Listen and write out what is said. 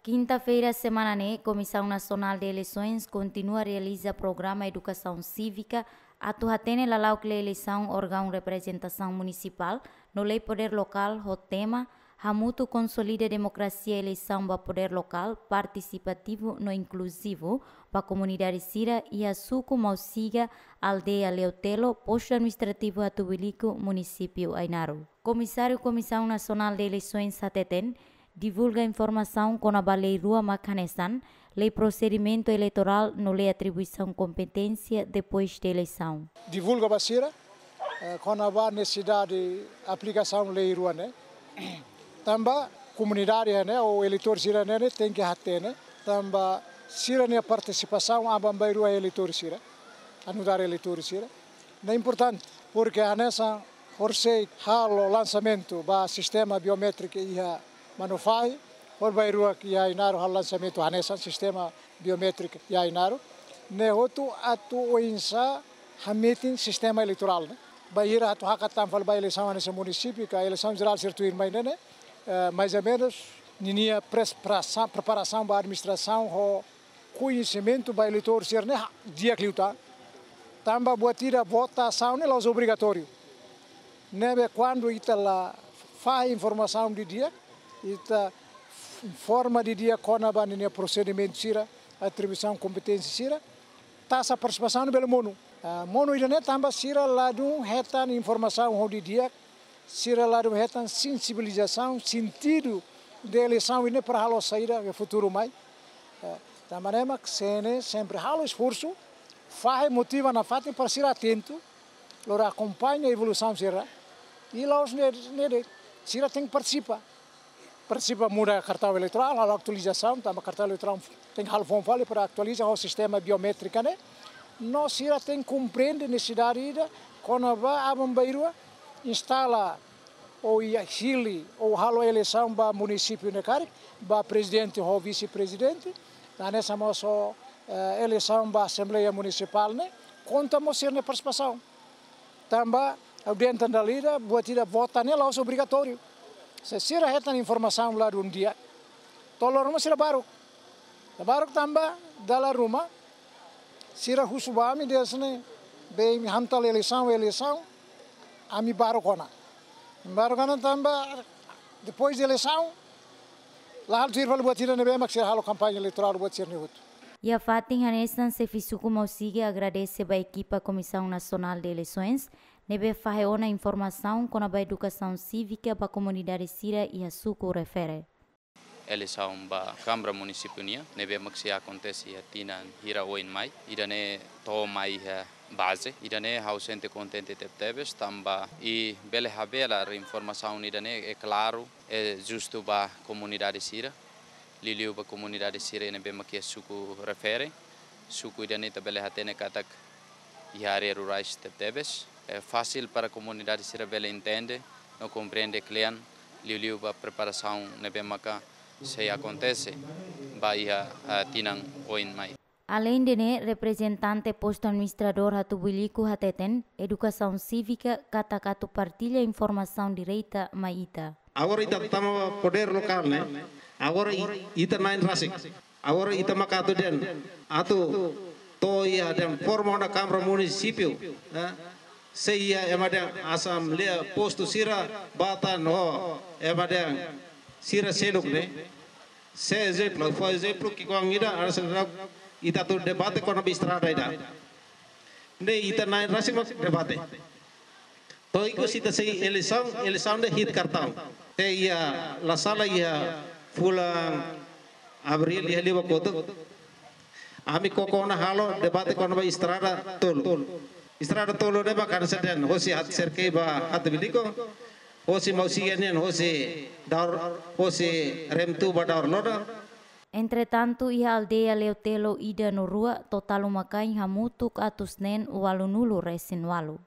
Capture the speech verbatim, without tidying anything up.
Kinta-feira semana ne'e, Komisaun Nasionál de Eleisoens kontinua realiza programa edukasaun sívika atu hatene lala'ok lee eleisaun órgaun reprezentasaun munisipál no lei podér lokál ho tema Hamutuk konsolida demokrasia eleisaun ba podér lokál partisipativu no inkluzivu ba komunidade sira iha suku Mausiga, aldeia Leotelo, postu administrativu Hatubuiliku, munisípiu Ainaro. Komisáriu Komisaun Nasionál de Eleisoens hateten, divulga informasaun kona-ba lei rua mak hanesan, lei prosedimentu eleitorál no lei atribuisaun kompeténsia depois de eleisaun. Divulga ba sira, eh, kona-ba nesesidade aplikasaun lei rua ne'e. Tanba komunidade ne'e, ou eleitór sira ne'e, ne'e tenke hatene. Tanba sira-nia partisipasaun aban-bainrua eleitór sira, nu'udar eleitór sira. Ne'e importante, porque hanesan horisehik halo lansamentu ba sistema biométriku iha Manufahi, horbainruak iha Ainaro halo lansamentu hanesan sistema biométriku iha Ainaro. Ne'e hotu atu oinsá hametin sistema eleitorál ne'e. Bainhira atu hakat tan fali ba eleisaun hanesan munisípiu ka eleisaun jerál sira tuirmai ne'e, eh, mais ou menus, ninia pres-, prasa-, preparasaun ba administrasaun ho koñesimentu ba eleitór sira ne'e ha-, di'ak liután. Tanba buat ida votasaun ne'e la'ós obrigatóriu. Ne'ebé kuandu ita la fahe informasaun didi'ak, ita informa didi'ak kona-ba ninia prosedimentu sira, atribuisaun kompeténsia sira, taxa partisipasaun bele monu. Ah, monu ida-ne'e tanba sira ladún hetan informasaun ho didi'ak, sira ladún hetan sensibilizasaun, sentidu de eleisaun ida-ne'e para halo saida iha futuru mai. Eh, tanba ne'e mak CNE sempre halo esforsu, fahe, motiva nafatin para sira atentu, lori akompaña evolusaun sira. I la'ós ne'e, ne'e de'it, sira tenke partisipa. Partisipa muda kartaun eleitorál, halo atualizasaun, tanba kartaun eleitorál tenke halo foun fali para atualiza ho sistema biométrika ne'e. No sira tenke komprende nesesidade ida kona-ba aban-bainrua instala ou iha hili ou halo eleisaun ba munisípiu ne'e karik, ba prezidente ho vise-prezidente, hanesan mós ho, eh, eleisaun ba Asembleia Munisipál ne'e, konta mós sira-nia partisipasaun. Tanba ha'u dehan tan dala ida, buat ida vota ne'e la'ós obrigatóriu. Se sira hetan informasaun ladún di'ak, to'o loron mós sira baruk. Sira baruk tanba dala ruma sira husu ba ami dehan ne'e, be imi hamtala eleisaun, eleisaun, ami baruk ona. Baruk ona tanba depois de eleisaun, la halo tuir fali buat ida ne'ebé mak sira halo kampaña eleitorál buat sira-ne'e hotu. Iha fatin hanesan, xefe suku Mausiga agradese ba ekipa Komisaun Nasionál de Eleisoens ne'ebé fahe ona informasaun kona-ba edukasaun sívika ba komunidade sira iha suku refere. Eleisaun ba Kámara Munisípiu nian, ne'ebé mak sei akontese iha tinan hira oin mai, ida-ne'e to'o mai iha baze, ida-ne'e ha'u sente kontente tebetebes, tanba i bele habelar informasaun ida-ne'e, é klaru, é justu ba komunidade sira, liuliu ba komunidade sira ne'ebé mak iha suku refere, suku ida-ne'e ita bele hatene katak iha área rurais tebetebes. É fasil para komunidade sira bele entende no komprende kle'an, liuliu ba preparasaun ne'ebé maka sei akontese ba iha, ah, tinan oin mai. Aleinde ne'e, reprezentante postu administradór Hatubuiliku hateten, edukasaun sívika katak atu partilla informasaun direta mai ita. Agora ita tama podér lokál ne'e. Agora i-, ita na'in rasik. Agora ita maka atu dehan, atu to'o iha dehan forma ona Kámara Munisípiu, eh? Sei iha ema dehan asambleia postu sira batan ho ema dehan sira seluk ne'e. Se ezemplu, fó ezemplu ki'ikoan ida, hanesan ita atu debate kona-ba estrada ida. Ne'e ita na'in rasik mak debate. To'o ikus ita sei eleisaun, eleisaun de'it kartaun. Te iha, la sala iha fulan Abríl iha liubá kotuk, ami koko ona halo debate kona-ba estrada tolu. Estrada tolu ne'e mak hanesan dehan hosi Hat-, Serkei ba Hatubuiliku, hosi Mausiga nian hosi Daur, hosi Remtu ba Daur Loda. Entretantu, iha aldeia Leotelo ida no rua, totál uma-kain hamutuk atus neen ualunulu resin ualu.